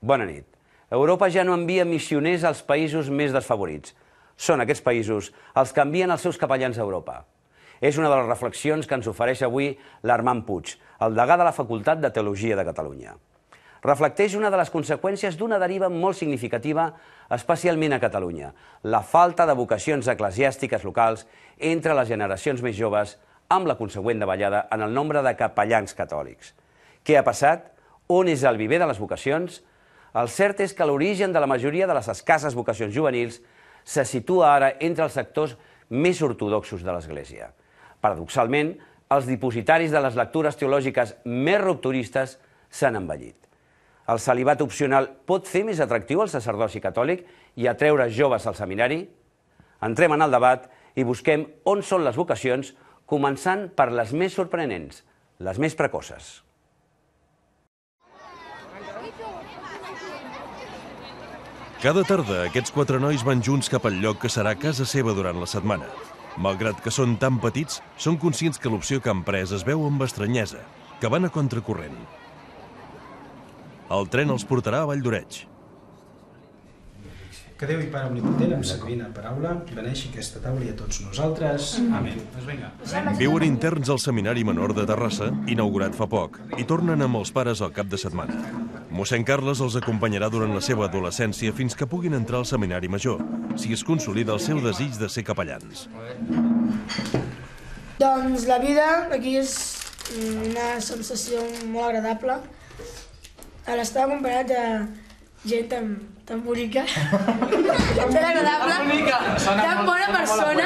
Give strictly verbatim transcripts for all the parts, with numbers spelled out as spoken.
Bona nit. Europa ja no envia missioners als països més desfavorits. Són aquests països els que envien els seus capellans a Europa. És una de les reflexions que ens ofereix avui l'Armand Puig, el degà de la Facultat de Teologia de Catalunya. Reflecteix una de les conseqüències d'una deriva molt significativa, especialment a Catalunya, la falta de vocacions eclesiàstiques locals entre les generacions més joves, amb la consegüent davallada en el nombre de capellans catòlics. Què ha passat? On és el viver de les vocacions? El cert és que l'origen de la majoria de les escasses vocacions juvenils se situa ara entre els sectors més ortodoxos de l'Església. Paradoxalment, els dipositaris de les lectures teològiques més rupturistes s'han envellit. El celibat opcional pot fer més atractiu el sacerdoci catòlic i atreure joves al seminari? Entrem en el debat i busquem on són les vocacions, començant per les més sorprenents, les més precoces. Cada tarda, aquests quatre nois van junts cap al lloc que serà casa seva durant la setmana. Malgrat que són tan petits, són conscients que l'opció que han pres es veu amb estranyesa, que van a contracorrent. El tren els portarà a Valldoreix. Que Déu i Pare Omnipotent, amb sa divina paraula, beneixi aquesta taula i a tots nosaltres. Amén. Doncs vinga. Viuen interns al Seminari Menor de Terrassa, inaugurat fa poc, i tornen amb els pares al cap de setmana. Mossèn Carles els acompanyarà durant la seva adolescència fins que puguin entrar al Seminari Major, si es consolida el seu desig de ser capellans. Doncs la vida aquí és una sensació molt agradable. A l'estar acompanyat de gent tan, tan bonica, tan agradable, tan bona persona.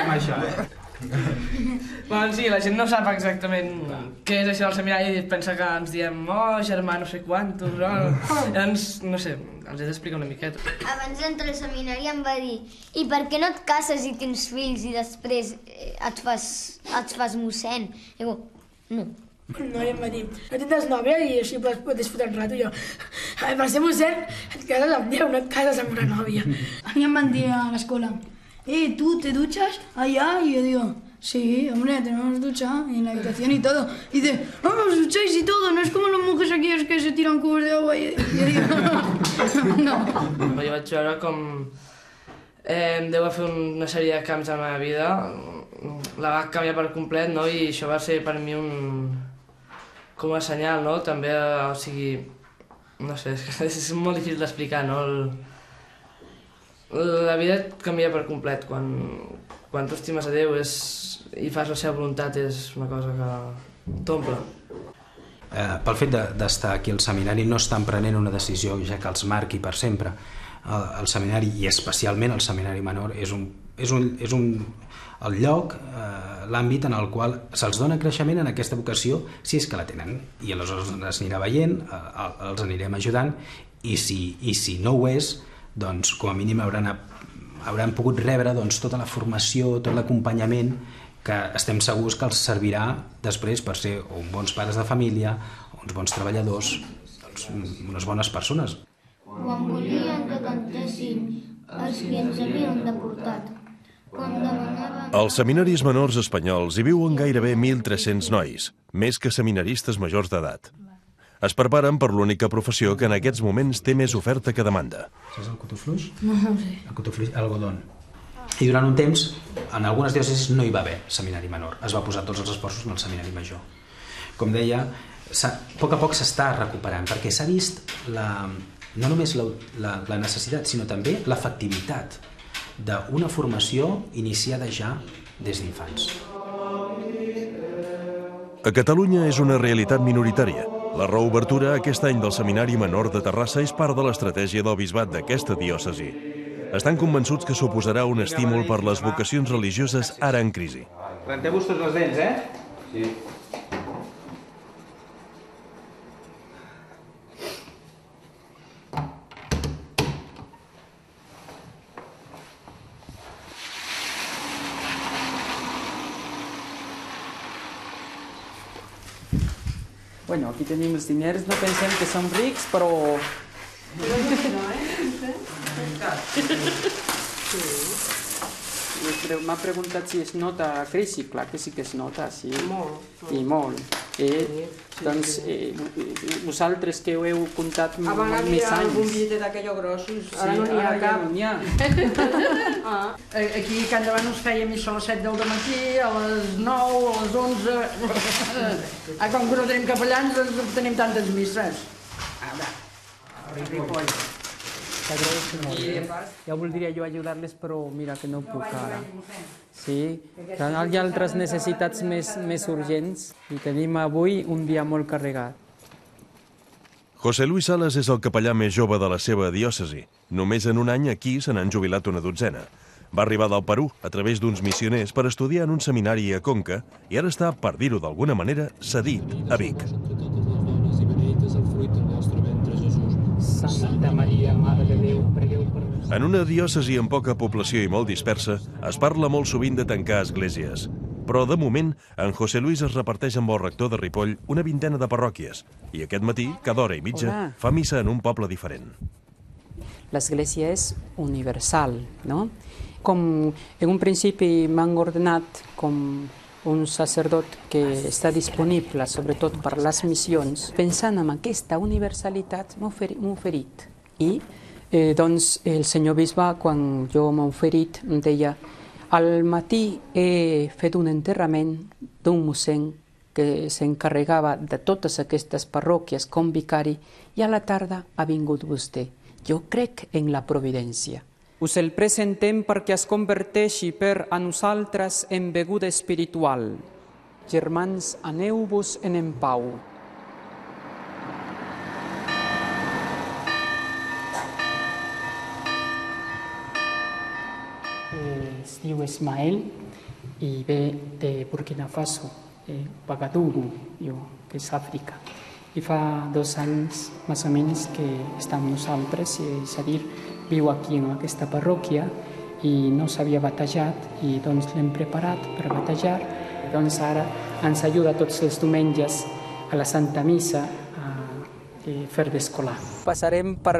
Bueno, sí, la gent no sap exactament què és això del seminari i pensa que ens diem oh, germà no sé quantos, no? Llavors, no sé, els he d'explicar una miqueta. Abans d'entrar al seminari em va dir i per què no et cases i tens fills i després et fas, et fas mossèn? I dic, no. Una noia em va dir, no tindràs nòvia i així pots, pots fotre un rato. Jo, per ser mossèn et cases amb Déu, no et cases amb una nòvia. A mí me han dicho a la escuela, eh, ¿tú te duchas allá? Y yo digo, sí, hombre, tenemos ducha en la habitación y todo. Y dice, ah, os ducháis y todo, no es como los monjes aquí es que se tiran cubos de agua. Y yo digo, no. Jo vaig veure com eh, Déu va fer una sèrie de canvis a la meva vida, la va canviar per complet, no? I això va ser per mi un... com a senyal, no? També, o sigui, no sé, és, és molt difícil d'explicar, no? El, la vida et canvia per complet. Quan, quan tu estimes a Déu és, i fas la seva voluntat és una cosa que t'omple. Eh, pel fet d'estar aquí al seminari no estan prenent una decisió ja que els marqui per sempre. El, el seminari, i especialment el seminari menor, és un, és un, és un el lloc, eh, l'àmbit en el qual se'ls dona creixement en aquesta vocació si és que la tenen, i aleshores es anirà veient, eh, els anirem ajudant, i si, i si no ho és, doncs com a mínim hauran, hauran pogut rebre doncs, tota la formació, tot l'acompanyament que estem segurs que els servirà després per ser uns bons pares de família, uns bons treballadors, doncs, unes bones persones. Quan volien que cantessin els que ens havien deportat, quan demanaven... Als seminaris menors espanyols hi viuen gairebé mil tres-cents nois, més que seminaristes majors d'edat. Es preparen per l'única professió que en aquests moments té més oferta que demanda. Saps el cotofluix? No, no sé. El cotofluix, algodón. I durant un temps, en algunes diòcesis no hi va haver seminari menor. Es va posar tots els esforços en el seminari major. Com deia, a poc a poc s'està recuperant, perquè s'ha vist la, no només la, la, la necessitat, sinó també l'efectivitat d'una formació iniciada ja des d'infants. A Catalunya és una realitat minoritària. La reobertura aquest any del Seminari Menor de Terrassa és part de l'estratègia del bisbat d'aquesta diòcesi. Estan convençuts que suposarà un estímul per les vocacions religioses ara en crisi. Renteu-vos tots les dents, eh? Sí. Bueno, aquí tenim els diners, no pensem que som rics, però... M'ha preguntat si es nota la crisi, clar que sí que es nota, sí. Molt. I molt. I Doncs eh, vosaltres que ho heu comptat més anys... Abans hi havia algun billetet d'aquells grossos, ara no n'hi ha cap. Ja no ah. Aquí cada davant us feia missa a les set del matí, a les nou, a les onze... Ah, com que no tenim capellans, doncs tenim tantes misses. Ara, a Ripoll. T'agraeixo molt. Eh? Ja voldria jo ajudar-les, però mira que no puc ara. Sí, hi ha altres necessitats més, més urgents i tenim avui un dia molt carregat. José Luis Salas és el capellà més jove de la seva diòcesi. Només en un any aquí se n'han jubilat una dotzena. Va arribar del Perú a través d'uns missioners per estudiar en un seminari a Conca i ara està, per dir-ho d'alguna manera, cedit a Vic. Santa Maria, Mare de Déu, pregueu per nosaltres. En una diòcesi amb poca població i molt dispersa, es parla molt sovint de tancar esglésies. Però, de moment, en José Luis es reparteix amb el rector de Ripoll una vintena de parròquies i aquest matí, cada hora i mitja, Hola. fa missa en un poble diferent. L'església és universal, no? Com en un principi m'han ordenat com un sacerdot que està disponible sobretot per les missions, pensant en aquesta universalitat m'ha oferit. I eh, doncs el senyor bisbe, quan jo m'ha oferit, em deia al matí he fet un enterrament d'un mossèn que s'encarregava de totes aquestes parròquies com vicari i a la tarda ha vingut vostè. Jo crec en la providència. Us el presentem perquè es converteixi per a nosaltres en beguda espiritual. Germans, aneu-vos en en pau. Es diu Ismael i ve de Burkina Faso, eh, Ouagadougou, que és Àfrica. I fa dos anys, més o menys, que està amb nosaltres, és a dir, viu aquí en aquesta parròquia i no s'havia batejat i doncs l'hem preparat per batejar. Doncs ara ens ajuda tots els diumenges a la Santa Missa a fer d'escolar. Passarem per,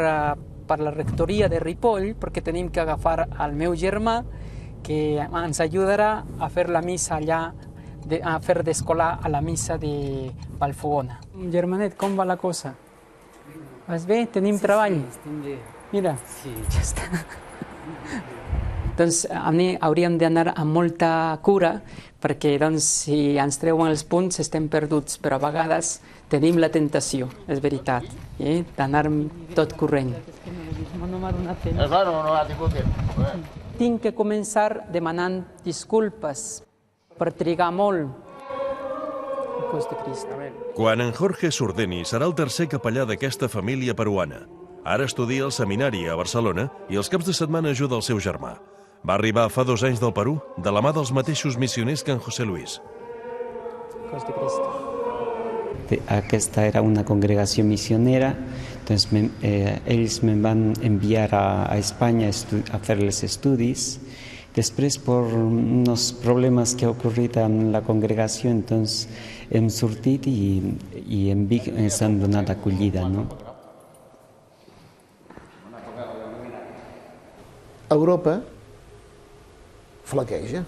per la rectoria de Ripoll perquè tenim que agafar el meu germà que ens ajudarà a fer la missa allà, de, a fer d'escolar a la missa de Vallfogona. Germanet, com va la cosa? Vas bé? Tenim sí, treball? Sí, estem bé. Mira, sí. Ja està. Doncs hauríem d'anar amb molta cura perquè doncs, si ens treuen els punts estem perduts, però a vegades tenim la tentació, és veritat, eh? D'anar tot corrent. No m'ha donat temps. És clar, no, no ha tingut temps. Tinc que començar demanant disculpes per trigar molt. El cos de Crist. Quan en Jorge Surdeni serà el tercer capellà d'aquesta família peruana. Ara estudia al seminari a Barcelona i els caps de setmana ajuda el seu germà. Va arribar fa dos anys del Perú, de la mà dels mateixos missioners que en José Luis. Cos de Cristo. Aquesta era una congregació missionera, doncs me, eh, ells me van enviar a, a Espanya a fer els estudis. Després, per uns problemes que ha ocorrit en la congregació, doncs hem sortit i, i en Vic ens han donat acollida, no? Europa flaqueja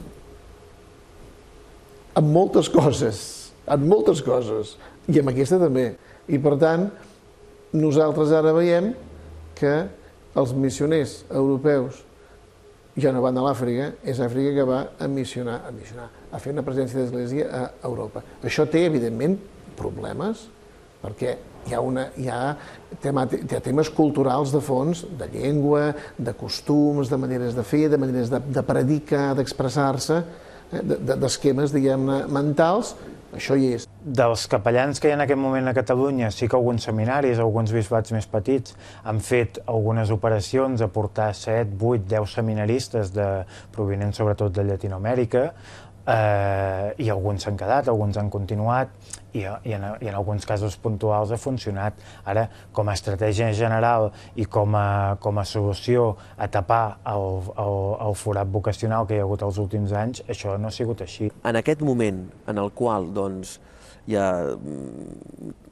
amb moltes coses, amb moltes coses, i amb aquesta també. I per tant, nosaltres ara veiem que els missioners europeus ja no van a l'Àfrica, és Àfrica que va a missionar, a missionar, a fer una presència d'església a Europa. Això té, evidentment, problemes, perquè hi ha, una, hi ha, temàtic, hi ha temes culturals de fons, de llengua, de costums, de maneres de fer, de maneres de, de predicar, d'expressar-se, eh, d'esquemes, diguem-ne, mentals, això hi és. Dels capellans que hi ha en aquest moment a Catalunya, sí que alguns seminaris, alguns bisbats més petits, han fet algunes operacions a portar set, vuit, deu seminaristes de, provenents sobretot de Llatinoamèrica, eh, i alguns s'han quedat, alguns han continuat, i, i, en, i en alguns casos puntuals ha funcionat. Ara, com a estratègia general i com a, com a solució a tapar el, el, el forat vocacional que hi ha hagut els últims anys, això no ha sigut així. En aquest moment en el qual doncs, hi ha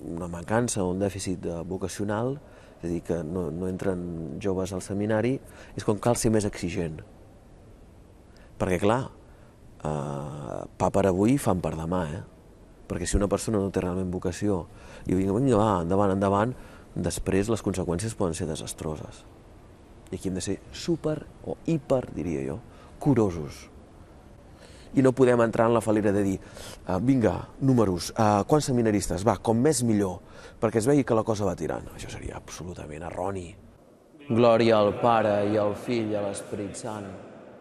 una mancança o un dèficit vocacional, és a dir, que no, no entren joves al seminari, és com cal ser més exigent. Perquè, clar, eh, pa per avui, fam per demà, eh? perquè si una persona no té realment vocació i vinga, vinga, va, endavant, endavant, després les conseqüències poden ser desastroses. I aquí hem de ser super, o hiper, diria jo, curosos. I no podem entrar en la falera de dir uh, vinga, números, uh, quants seminaristes, va, com més millor, perquè es vegi que la cosa va tirant. Això seria absolutament erroni. Glòria al Pare i al Fill i a l'Esperit Sant.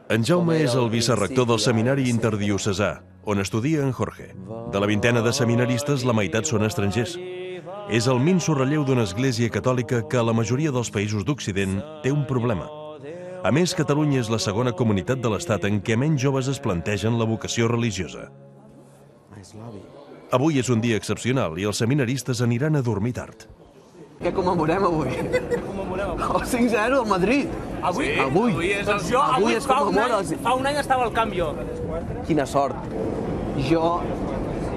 En Jaume és el vicerrector del Seminari Interdiocesà, on estudia en Jorge. De la vintena de seminaristes, la meitat són estrangers. És el minso relleu d'una església catòlica que a la majoria dels països d'Occident té un problema. A més, Catalunya és la segona comunitat de l'Estat en què menys joves es plantegen la vocació religiosa. Avui és un dia excepcional i els seminaristes aniran a dormir tard. Què commemorem avui? Què commemorem avui? El cinc zero del Madrid. Avui? Sí, avui. Avui és el... Jo, avui avui es fa, un commemora any, el... fa un any estava al Canvio. Quina sort. Jo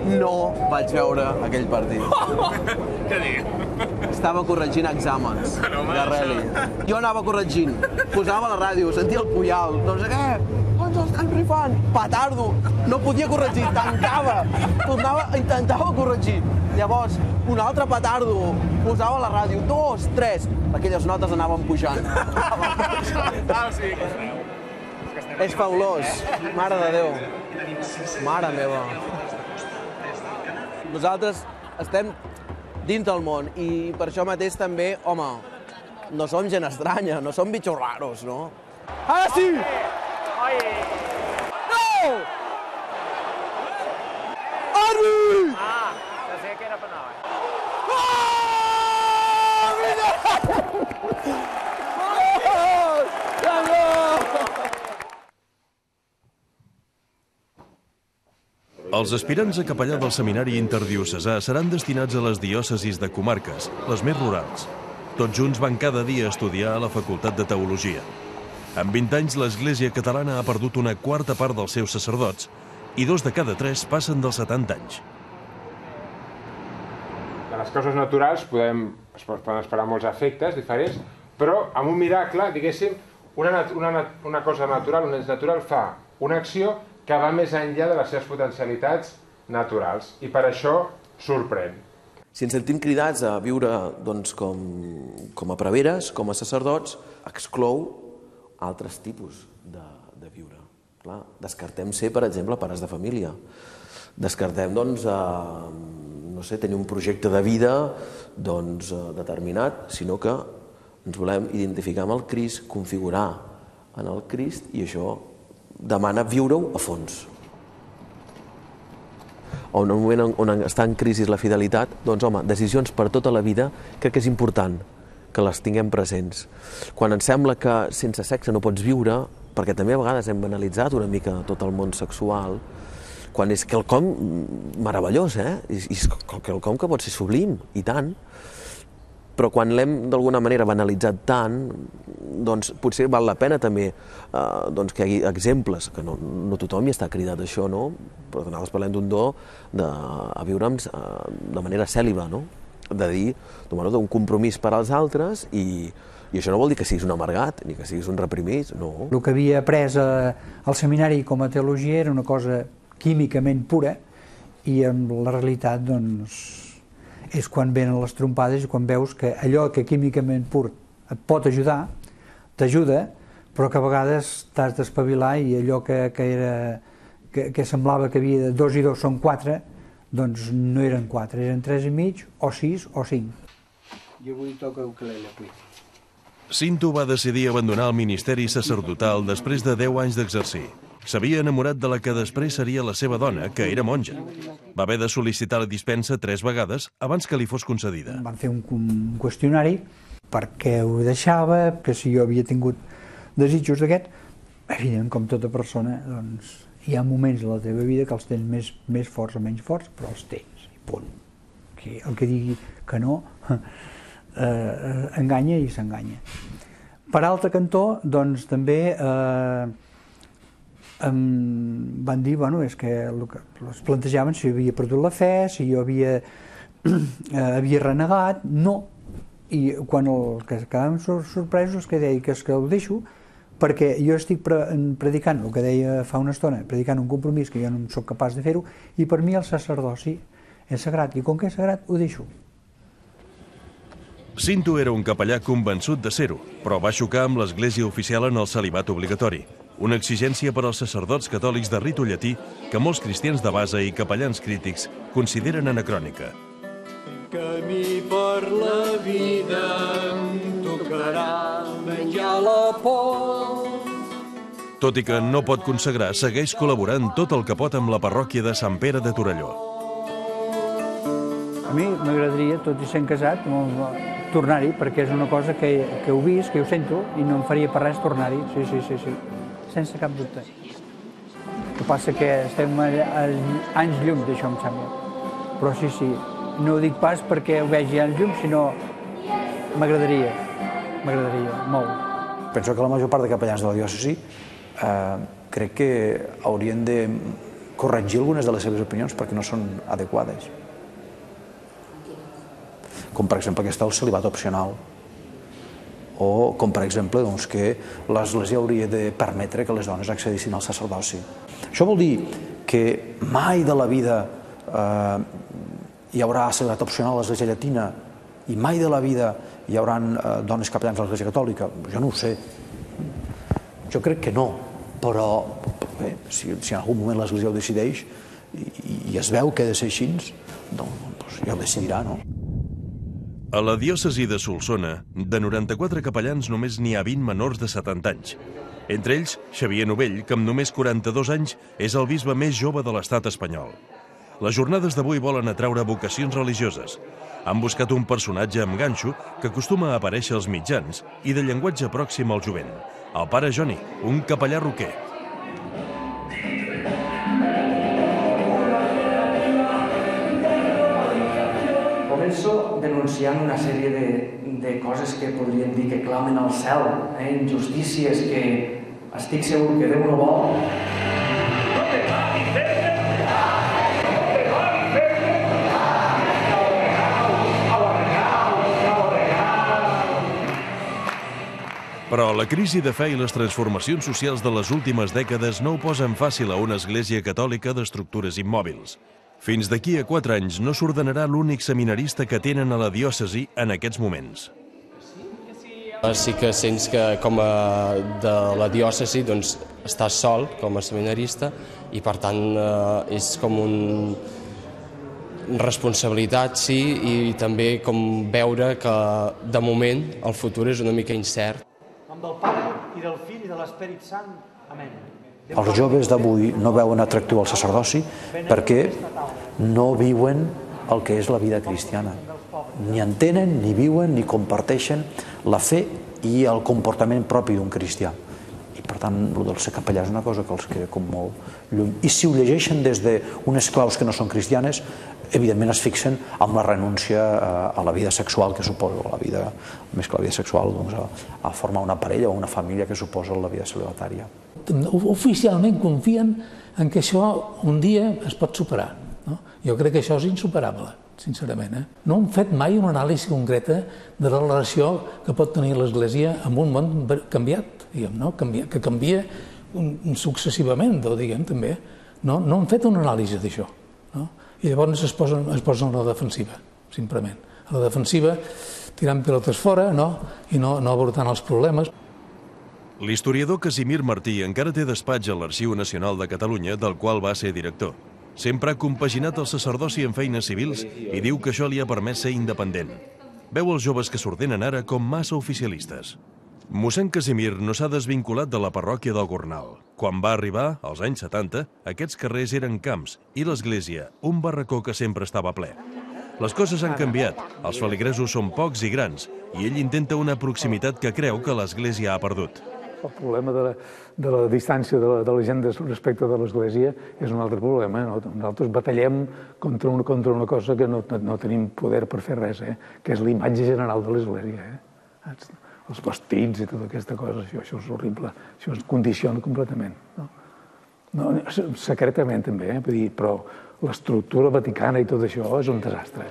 no vaig veure aquell partit. Què dius? Estava corregint exàmens de rally. Jo anava corregint, posava la ràdio, sentia el Puyal, no sé què, ens estem rifant, petardo, no podia corregir, tancava, tornava, intentava corregir. Llavors, un altre petardo, posava la ràdio, dos, tres, aquelles notes anaven pujant. Ah, sí, que feu. És fabulós, mare de Déu, mare meva. Nosaltres estem dins del món i per això mateix també, home, no som gent estranya, no som bitxos raros, no? Ara sí! No! Arbi! Ah, ja sé que era penal. Els aspirants a capellà del Seminari Interdiocesà seran destinats a les diòcesis de comarques, les més rurals. Tots junts van cada dia a estudiar a la Facultat de Teologia. En vint anys, l'Església catalana ha perdut una quarta part dels seus sacerdots i dos de cada tres passen dels setanta anys. De les causes naturals podem, es poden esperar molts efectes diferents, però amb un miracle, diguéssim, una, una, una cosa natural, un ens natural fa una acció que va més enllà de les seves potencialitats naturals i per això sorprèn. Si ens sentim cridats a viure doncs, com, com a preveres, com a sacerdots, exclou altres tipus de, de viure. Clar, descartem ser, per exemple, pares de família. Descartem doncs, a, no sé, tenir un projecte de vida doncs, determinat, sinó que ens volem identificar amb el Crist, configurar en el Crist i això demana viure-ho a fons. O en un moment on està en crisi la fidelitat, doncs home, decisions per tota la vida crec que és important que les tinguem presents. Quan ens sembla que sense sexe no pots viure, perquè també a vegades hem banalitzat una mica tot el món sexual, quan és quelcom meravellós, eh? I és quelcom que pot ser sublim, i tant, però quan l'hem d'alguna manera banalitzat tant, doncs potser val la pena també eh, doncs que hi hagi exemples, que no, no tothom hi està cridat a això, no? Però nosaltres parlem d'un do de, a viure eh, de manera cèl·liba, no? De dir, d'un compromís per als altres i, i això no vol dir que siguis un amargat ni que siguis un reprimit, no. El que havia après a, al seminari com a teologia era una cosa químicament pura i en la realitat doncs és quan venen les trompades i quan veus que allò que químicament pur et pot ajudar, t'ajuda, però que a vegades t'has d'espavilar i allò que, que, era, que, que semblava que havia de dos i dos són quatre, doncs no eren quatre, eren tres i mig, o sis, o cinc. Jo avui toca ukelele, avui. Cinto va decidir abandonar el ministeri sacerdotal després de deu anys d'exercir. S'havia enamorat de la que després seria la seva dona, que era monja. Va haver de sol·licitar la dispensa tres vegades abans que li fos concedida. Van fer un, un qüestionari per què ho deixava, que si jo havia tingut desitjos d'aquest. Evident, com tota persona, doncs, hi ha moments a la teva vida que els tens més, més forts o menys forts, però els tens, i punt. Que el que digui que no, eh, enganya i s'enganya. Per altre cantó, doncs, també eh, em van dir, bueno, és que el que es plantejaven si jo havia perdut la fe, si jo havia, eh, havia renegat, no. I quan el que quedàvem sorpresos és que deia que és que el deixo perquè jo estic pre predicant, el que deia fa una estona, predicant un compromís que jo no soc capaç de fer-ho, i per mi el sacerdoci és sagrat, i com que és sagrat, ho deixo. Cinto era un capellà convençut de ser-ho, però va xocar amb l'Església oficial en el celibat obligatori, una exigència per als sacerdots catòlics de ritu llatí que molts cristians de base i capellans crítics consideren anacrònica. Camí per la vida em tocarà menjar la por. Tot i que no pot consagrar, segueix col·laborant tot el que pot amb la parròquia de Sant Pere de Torelló. A mi m'agradaria, tot i sent casat, tornar-hi, perquè és una cosa que, que heu vist, que ho sento, i no em faria per res tornar-hi, sí, sí, sí, sí, sense cap dubte. El que passa que estem a, a anys llum d'això, em sembla. Però sí, sí, no ho dic pas perquè ho vegi anys llum, sinó m'agradaria, m'agradaria, molt. Penso que la major part de capellans de la diòcesi eh, crec que haurien de corregir algunes de les seves opinions perquè no són adequades. Com per exemple aquesta del celibat opcional, o com per exemple doncs, que l'Església hauria de permetre que les dones accedissin al sacerdoci. Això vol dir que mai de la vida eh, hi haurà celibat opcional a l'Església llatina i mai de la vida hi haurà eh, dones capellans a l'Església catòlica? Jo no ho sé. Jo crec que no, però bé, si, si en algun moment l'Església ho decideix i, i es veu que ha de ser així, doncs ja ho decidirà, no? A la diòcesi de Solsona, de noranta-quatre capellans només n'hi ha vint menors de setanta anys. Entre ells, Xavier Novell, que amb només quaranta-dos anys és el bisbe més jove de l'estat espanyol. Les jornades d'avui volen atraure vocacions religioses. Han buscat un personatge amb ganxo que acostuma a aparèixer als mitjans i de llenguatge pròxim al jovent. El pare Joni, un capellà roquer. Començo denunciant una sèrie de, de coses que podríem dir que clamen al cel, eh? Injustícies que estic segur que Déu no vol. Però la crisi de fe i les transformacions socials de les últimes dècades no ho posen fàcil a una església catòlica d'estructures immòbils. Fins d'aquí a quatre anys no s'ordenarà l'únic seminarista que tenen a la diòcesi en aquests moments. Sí que sents que com a de la diòcesi doncs, estàs sol com a seminarista i per tant eh, és com un responsabilitat, sí, i també com veure que de moment el futur és una mica incert. En nom del Pare i del Fill i de l'Esperit Sant. Amén. Els joves d'avui no veuen atractiu al sacerdoci perquè no viuen el que és la vida cristiana. Ni entenen, ni viuen, ni comparteixen la fe i el comportament propi d'un cristià. I per tant, el del ser capellà és una cosa que els queda com molt lluny. I si ho llegeixen des d'unes claus que no són cristianes, evidentment es fixen amb la renúncia a la vida sexual que suposa, la vida, més que la vida sexual, doncs, a, a formar una parella o una família que suposa la vida celibatària. Oficialment confien en que això un dia es pot superar. No? Jo crec que això és insuperable, sincerament. Eh? No hem fet mai una anàlisi concreta de la relació que pot tenir l'Església amb un món canviat, diguem, no? Canvia, que canvia successivament, diguem, també. No, no hem fet una anàlisi d'això. No? I llavors es posen, es posen a la defensiva, simplement. A la defensiva, tirant pilotes fora, no? I no, no abordant els problemes. L'historiador Casimir Martí encara té despatx a l'Arxiu Nacional de Catalunya, del qual va ser director. Sempre ha compaginat el sacerdoci amb feines civils i diu que això li ha permès ser independent. Veu els joves que s'ordenen ara com massa oficialistes. Mossèn Casimir no s'ha desvinculat de la parròquia del Gornal. Quan va arribar, als anys setanta, aquests carrers eren camps i l'església, un barracó que sempre estava ple. Les coses han canviat, els feligresos són pocs i grans, i ell intenta una proximitat que creu que l'església ha perdut. El problema de la, de la distància de la, de la gent respecte de l'Església és un altre problema. No? Nosaltres batallem contra una, contra una cosa que no, no, no tenim poder per fer res, eh? Que és l'imatge general de l'Església. Eh? Els vestits i tota aquesta cosa, això, això és horrible, això es condiciona completament. No? No, secretament també, eh? Vull dir, però l'estructura vaticana i tot això és un desastre.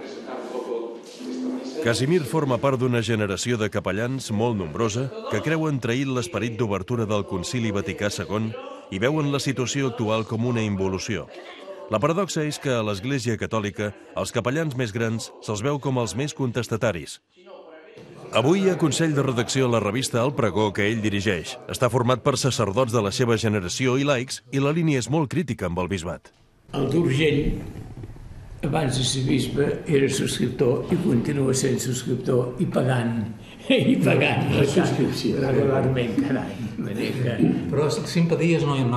Casimir forma part d'una generació de capellans molt nombrosa que creuen trair l'esperit d'obertura del Concili Vaticà segon i veuen la situació actual com una involució. La paradoxa és que a l'Església Catòlica els capellans més grans se'ls veu com els més contestataris. Avui hi ha consell de redacció a la revista El Pregó que ell dirigeix. Està format per sacerdots de la seva generació i laics i la línia és molt crítica amb el bisbat. El d'Urgell, abans de ser bisbe, era subscriptor i continua sent subscriptor i pagant. I pagant la subscripció regularment cada any. Però simpaties no en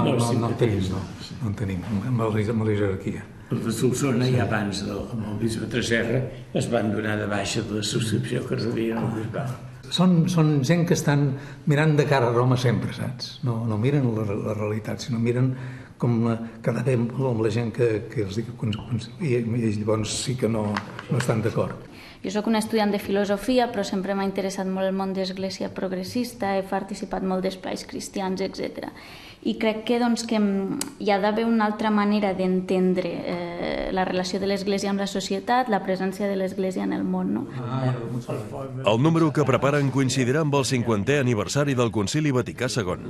tenim, no. No en tenim, amb la jerarquia. Els de Solsona, ja abans amb el bisbe Tresserra, es van donar de baixa de la subscripció que rebien al bisbat. Són, són gent que estan mirant de cara a Roma sempre, saps? No, no miren la, la realitat, sinó miren com la, quedar bé amb la gent que, que els dic, i, i llavors sí que no, no estan d'acord. Jo sóc una estudiant de filosofia, però sempre m'ha interessat molt el món d'església progressista, he participat molt d'espais cristians, etcètera. I crec que, doncs, que hi ha d'haver una altra manera d'entendre eh, la relació de l'Església amb la societat, la presència de l'Església en el món. No? El número que preparen coincidirà amb el cinquantè aniversari del Concili Vaticà segon.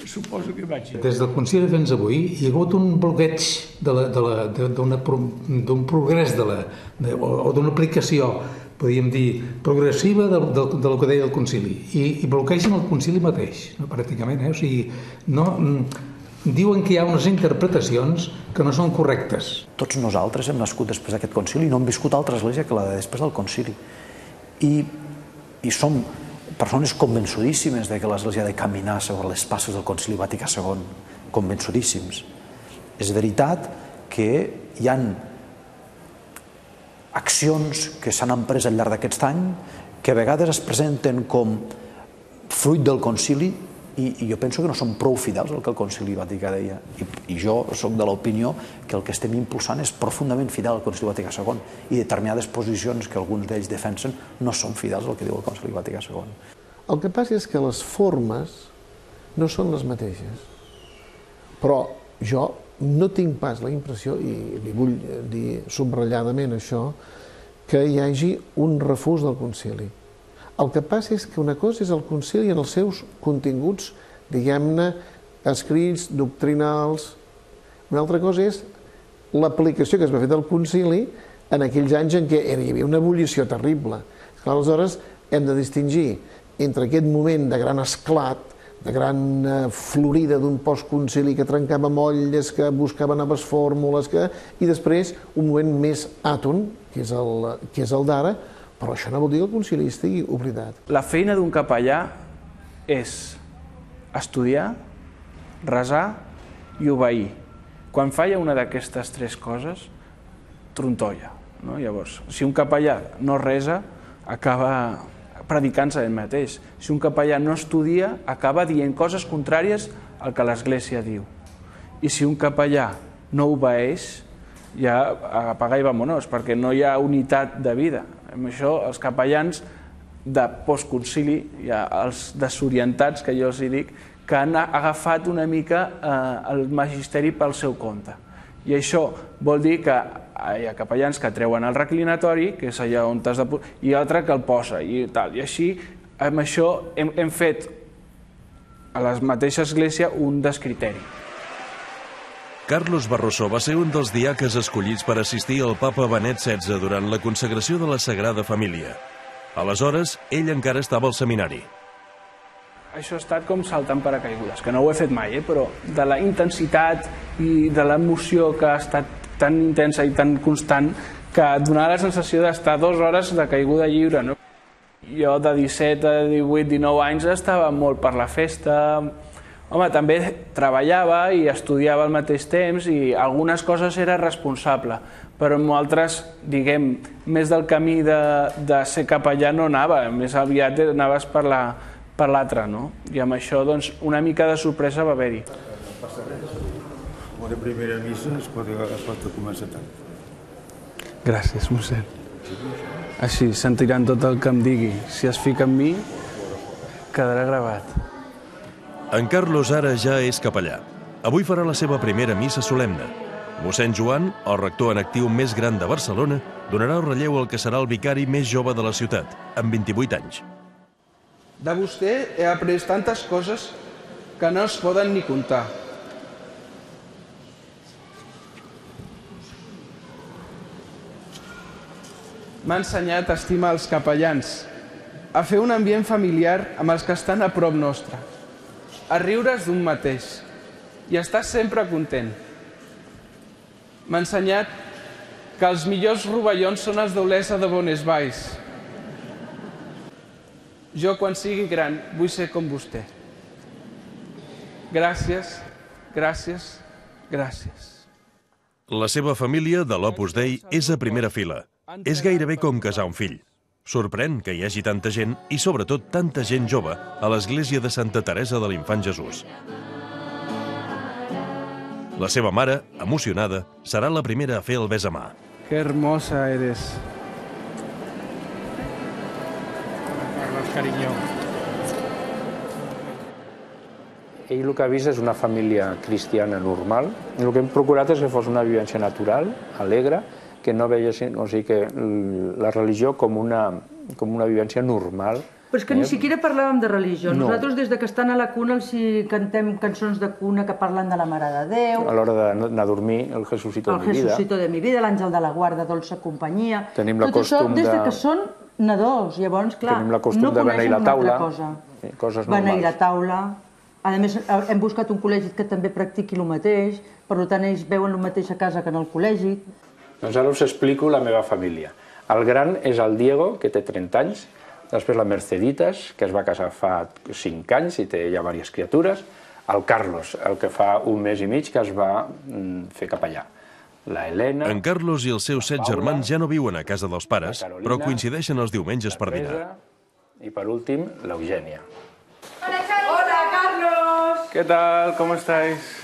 Suposo que vaig... Des del concili fins avui hi ha hagut un bloqueig d'un progrés de la, de, o d'una aplicació, podríem dir, progressiva del, del, del que deia el concili, i, i bloquegen el concili mateix, no, pràcticament. Eh? O sigui, no, diuen que hi ha unes interpretacions que no són correctes. Tots nosaltres hem nascut després d'aquest concili i no hem viscut altra església que la de després del concili. I, i som persones convençudíssimes de que l'església ha de caminar segons les passes del concili Vaticà segon, convençudíssims. És veritat que hi ha accions que s'han emprès al llarg d'aquest any que a vegades es presenten com fruit del concili i, i jo penso que no són prou fidels al que el concili Vaticà deia. I, i jo soc de l'opinió que el que estem impulsant és profundament fidel al concili Vaticà segon i determinades posicions que alguns d'ells defensen no són fidels al que diu el concili Vaticà segon. El que passa és que les formes no són les mateixes, però jo no tinc pas la impressió, i li vull dir subratlladament això, que hi hagi un refús del concili. El que passa és que una cosa és el concili en els seus continguts, diguem-ne, escrits, doctrinals. Una altra cosa és l'aplicació que es va fer del concili en aquells anys en què hi havia una ebullició terrible. Aleshores, hem de distingir entre aquest moment de gran esclat, de gran florida d'un postconcili que trencava molles, que buscava noves fórmules, que... i després un moment més àton, que és el, que és el d'ara, però això no vol dir que el concili estigui oblidat. La feina d'un capellà és estudiar, resar i obeir. Quan falla una d'aquestes tres coses, trontolla. No? Llavors, si un capellà no resa, acaba predicant-se ell mateix. Si un capellà no estudia, acaba dient coses contràries al que l'Església diu. I si un capellà no obeeix, ja apaga i vamonos, perquè no hi ha unitat de vida. Amb això, els capellans de postconcili, ja els desorientats, que jo els dic, que han agafat una mica eh, el magisteri pel seu compte. I això vol dir que hi ha capellans que treuen el reclinatori, que és allà on t'has de posar, i altre que el posa, i tal. I així, amb això, hem, hem fet a la mateixa església un descriteri. Carlos Barroso va ser un dels diaques escollits per assistir al papa Benet setze durant la consagració de la Sagrada Família. Aleshores, ell encara estava al seminari. Això ha estat com saltar en paracaigudes, que no ho he fet mai, eh? Però de la intensitat i de l'emoció que ha estat tan intensa i tan constant que donava la sensació d'estar dues hores de caiguda lliure. No? Jo de disset a divuit, dinou anys estava molt per la festa. Home, també treballava i estudiava al mateix temps i algunes coses era responsable, però amb altres, diguem, més del camí de, de ser capellà no anava, més aviat anaves per la per l'altre, no? I amb això, doncs, una mica de sorpresa va haver-hi. Una primera missa es pot, es pot començar tant. Gràcies, mossèn. Així, sentiran tot el que em digui. Si es fica en mi, quedarà gravat. En Carlos ara ja és capellà. Avui farà la seva primera missa solemne. Mossèn Joan, el rector en actiu més gran de Barcelona, donarà el relleu al que serà el vicari més jove de la ciutat, amb vint-i-vuit anys. De vostè he après tantes coses que no es poden ni comptar. M'ha ensenyat a estimar els capellans, a fer un ambient familiar amb els que estan a prop nostre, a riure's d'un mateix i a estar sempre content. M'ha ensenyat que els millors rovellons són els d'Olesa de Bonesvalls. Jo, quan sigui gran, vull ser com vostè. Gràcies, gràcies, gràcies. La seva família, de l'Opus Dei, és a primera fila. És gairebé com casar un fill. Sorprèn que hi hagi tanta gent, i sobretot tanta gent jove, a l'església de Santa Teresa de l'Infant Jesús. La seva mare, emocionada, serà la primera a fer el besamà. Que hermosa eres. Carlos, cariño. Ell el que ha vist és una família cristiana normal. El que hem procurat és que fos una vivència natural, alegre, que no veiessin, o sigui, que la religió com una, com una vivència normal. Però és que ni eh? siquiera parlàvem de religió. No. Nosaltres, des de que estan a la cuna, els hi cantem cançons de cuna que parlen de la Mare de Déu. A l'hora d'anar a dormir, el Jesucito de mi vida. El Jesucito de mi vida, l'Àngel de la Guarda, Dolça Companyia. Tenim la Tot això costum des de de- que són nadons. Llavors, clar, Tenim la costum no de beneir coneixen la una taula. altra cosa. Sí, coses Beneir la normals. taula. A més, hem buscat un col·legi que també practiqui el mateix, per tant, ells veuen el mateix a casa que en el col·legi. Doncs ara us explico la meva família. El gran és el Diego, que té trenta anys, després la Merceditas, que es va casar fa cinc anys i té ja diverses criatures, el Carlos, el que fa un mes i mig que es va fer capellà. La Helena... En Carlos i els seus set germans ja no viuen a casa dels pares, però coincideixen els diumenges per dinar. I per últim, l'Eugènia. Hola, Carlos! Què tal? Com estáis?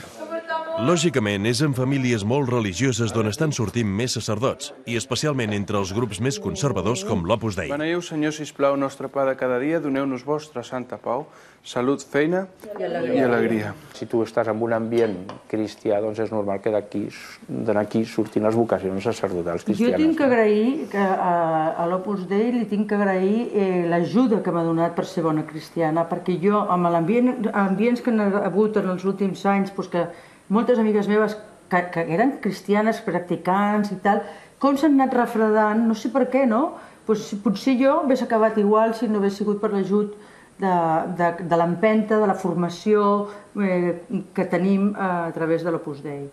Lògicament, és en famílies molt religioses d'on estan sortint més sacerdots, i especialment entre els grups més conservadors com l'Opus Dei. Beneieu, Senyor, sisplau, nostre pa de cada dia, doneu-nos vostra santa pau, salut, feina i alegria. Si tu estàs en un ambient cristià, doncs és normal que d'aquí d'aquí surtin les vocacions sacerdotals Jo cristianes. tinc que agrair que a, a l'Opus Dei li tinc que agrair eh, l'ajuda que m'ha donat per ser bona cristiana, perquè jo, amb l'ambient ambients que han hagut en els últims anys, doncs que moltes amigues meves que, que eren cristianes, practicants i tal, com s'han anat refredant, no sé per què, no? Pues, potser jo hagués acabat igual si no hagués sigut per l'ajut de, de, de l'empenta, de la formació eh, que tenim a través de l'Opus Dei.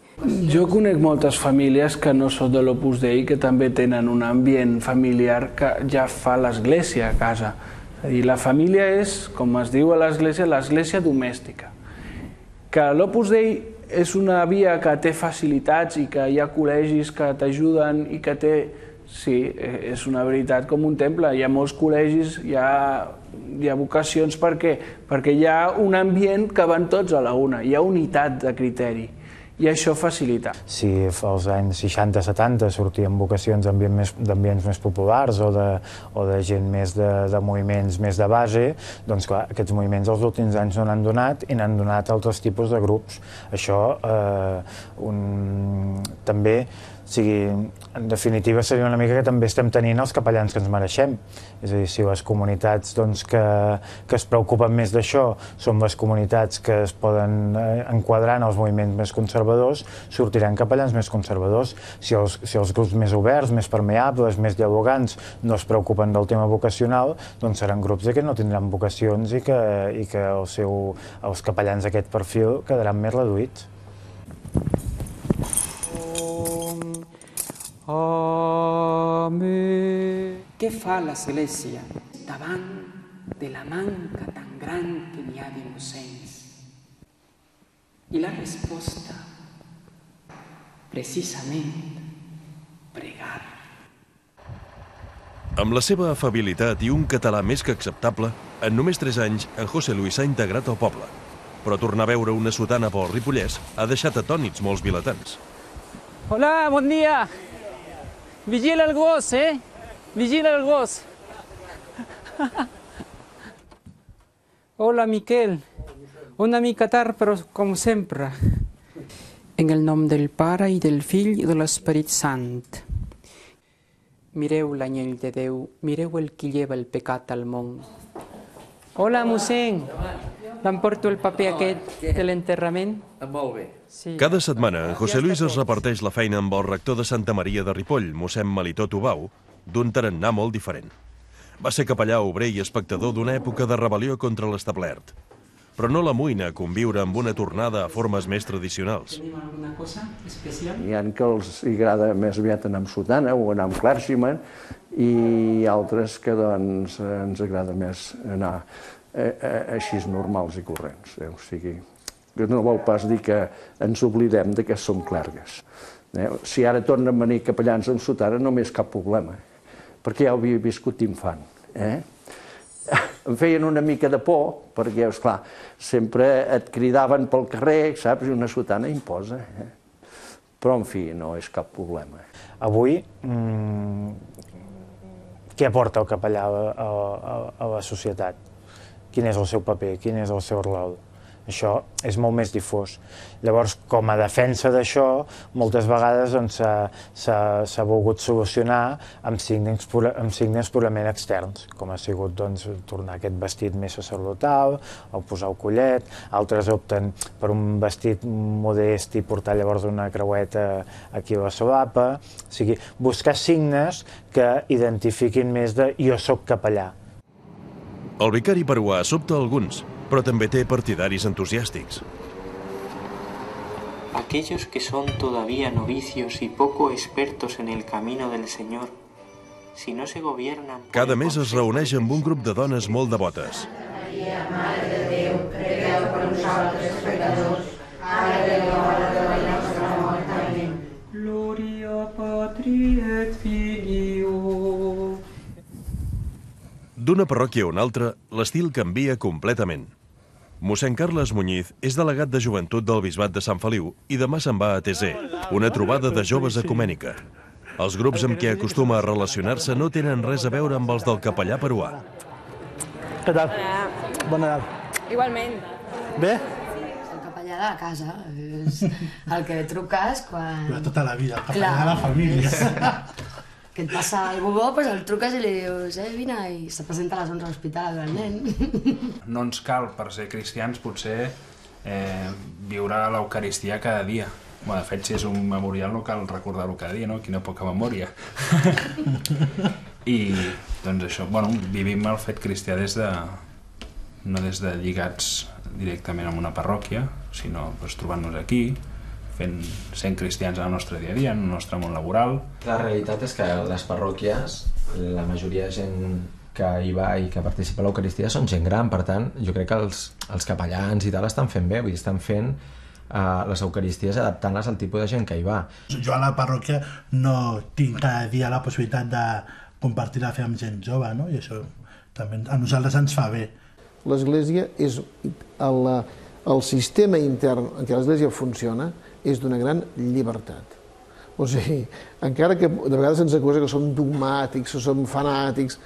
Jo conec moltes famílies que no són de l'Opus Dei que també tenen un ambient familiar que ja fa l'Església a casa. És a dir, la família és, com es diu a l'Església, l'Església domèstica. Que l'Opus Dei és una via que té facilitats i que hi ha col·legis que t'ajuden i que té... Sí, és una veritat com un temple. Hi ha molts col·legis, hi ha, hi ha vocacions. Per què? Perquè hi ha un ambient que van tots a la una. Hi ha unitat de criteri. I això facilita. Si als anys seixanta setanta sortien vocacions d'ambients més populars o de, o de gent més de, de moviments més de base, doncs clar, aquests moviments els últims anys no n'han donat i n'han donat altres tipus de grups. Això eh, un, també, o sigui, en definitiva seria una mica que també estem tenint els capellans que ens mereixem. És a dir, si les comunitats doncs, que, que es preocupen més d'això són les comunitats que es poden eh, enquadrar en els moviments més conservadors, sortiran capellans més conservadors. Si els, si els grups més oberts, més permeables, més dialogants no es preocupen del tema vocacional, doncs seran grups que no tindran vocacions i que, i que el seu, els capellans d'aquest perfil quedaran més reduïts. Amén. Què fa l'Església davant de la manca tan gran que n'hi ha de mossens? I la resposta, precisament, pregar. Amb la seva afabilitat i un català més que acceptable, en només tres anys, en José Luis s'ha integrat al poble. Però tornar a veure una sotana pel Ripollès ha deixat atònits molts vilatans. Hola, bon dia. Vigila el gos, eh? Vigila el gos. Hola, Miquel. Una mica tard, però com sempre. En el nom del Pare i del Fill i de l'Esperit Sant. Mireu l'anyell de Déu, mireu el qui lleva el pecat al món. Hola, mossèn. L'emporto el paper aquest de l'enterrament? Molt bé. Sí. Cada setmana, en José Luis es reparteix la feina amb el rector de Santa Maria de Ripoll, mossèn Melitó Tubau, d'un tarannà molt diferent. Va ser capellà obrer i espectador d'una època de rebel·lió contra l'establert. Però no l'amoïna a conviure amb una tornada a formes més tradicionals. Tenim alguna cosa especial? Hi ha que els agrada més aviat anar amb sotana o anar amb clergyman i altres que doncs ens agrada més anar així normals i corrents. O sigui, no vol pas dir que ens oblidem de que som clergues. Si ara tornen a venir capellans amb sotana no m'és cap problema, perquè ja ho havia viscut d'infant. Em feien una mica de por, perquè, esclar, sempre et cridaven pel carrer, saps, i una sotana imposa. Però, en fi, no és cap problema. Avui, què aporta el capellà a la societat? Quin és el seu paper? Quin és el seu rol? Això és molt més difós. Llavors, com a defensa d'això, moltes vegades s'ha volgut solucionar amb signes purament externs, com ha sigut tornar aquest vestit més sacerdotal, o posar el collet, altres opten per un vestit modest i portar llavors una creueta aquí a la solapa. O sigui, buscar signes que identifiquin més de jo soc capellà. El vicari peruà sobta alguns, però també té partidaris entusiàstics. Aquellos que son todavía novicios y poco expertos en el camino del Señor, si no se gobiernan... Cada mes es reuneix amb un grup de dones molt devotes. Maria, Mare de Déu, pregueu per nosaltres pecadors, ara i a l'hora de la nostra mort. Amén. Gloria Patri et Filio. D'una parròquia a una altra, l'estil canvia completament. Mossèn Carles Muñiz és delegat de joventut del Bisbat de Sant Feliu i demà se'n va a Tesé, una trobada de joves ecumènica. Els grups amb què acostuma a relacionar-se no tenen res a veure amb els del capellà peruà. Què tal? Bon Nadal. Igualment. Bé? El capellà de la casa, és el que truques quan... De tota la vida, el capellà de la família. Que et passa algú bo, doncs el truques i li dius eh, vine, i se presenta a les onze a l'hospital el nen. No ens cal, per ser cristians, potser eh, viure l'Eucaristia cada dia. Bueno, de fet, si és un memorial no cal recordar-ho cada dia, no? Quina poca memòria. I, doncs això, bueno, vivim el fet cristià des de... no des de lligats directament amb una parròquia, sinó doncs, trobant-nos aquí, fent, sent cristians al nostre dia a dia, en el nostre món laboral. La realitat és que les parròquies, la majoria de gent que hi va i que participa a l'Eucaristia són gent gran, per tant, jo crec que els, els capellans i tal estan fent bé, vull dir, estan fent uh, les Eucaristies adaptant-les al tipus de gent que hi va. Jo a la parròquia no tinc cada dia la possibilitat de compartir la fe amb gent jove, no? I això també a nosaltres ens fa bé. L'Església és el, el sistema intern en què l'Església funciona és d'una gran llibertat. O sigui, encara que de vegades ens acusa que som dogmàtics o som fanàtics,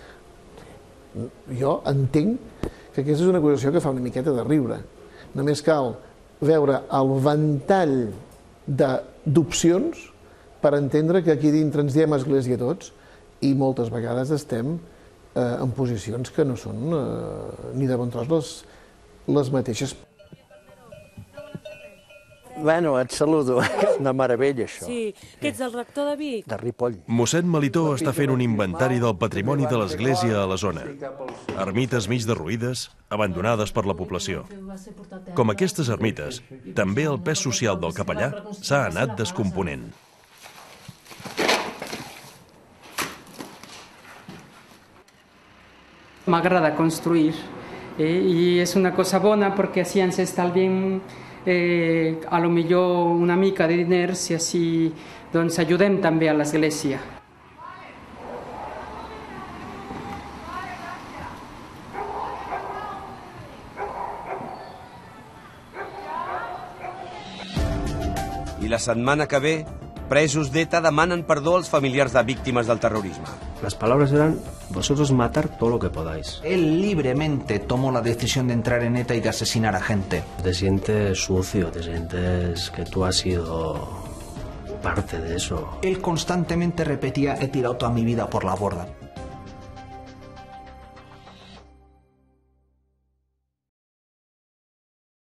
jo entenc que aquesta és una acusació que fa una miqueta de riure. Només cal veure el ventall d'opcions per entendre que aquí dintre ens diem Església tots i moltes vegades estem eh, en posicions que no són eh, ni de bon tros les, les mateixes. Bueno, et saludo. És una meravella, això. Sí, que ets el rector de Vic? De Ripoll. Mossèn Melitó està fent un inventari del patrimoni de l'Església a la zona. Ermites mig derruïdes, abandonades per la població. Com aquestes ermites, també el pes social del capellà s'ha anat descomponent. M'agrada construir eh, i és una cosa bona perquè així ens estalviem Eh, a lo millor una mica de diners i així doncs, ajudem també a l'Església. I la setmana que ve, presos d'ETA demanen perdó als familiars de víctimes del terrorisme. Las palabras eran, vosotros matar todo lo que podáis. Él libremente tomó la decisión de entrar en ETA y de asesinar a gente. Te sientes sucio, te sientes que tú has sido parte de eso. Él constantemente repetía, he tirado toda mi vida por la borda.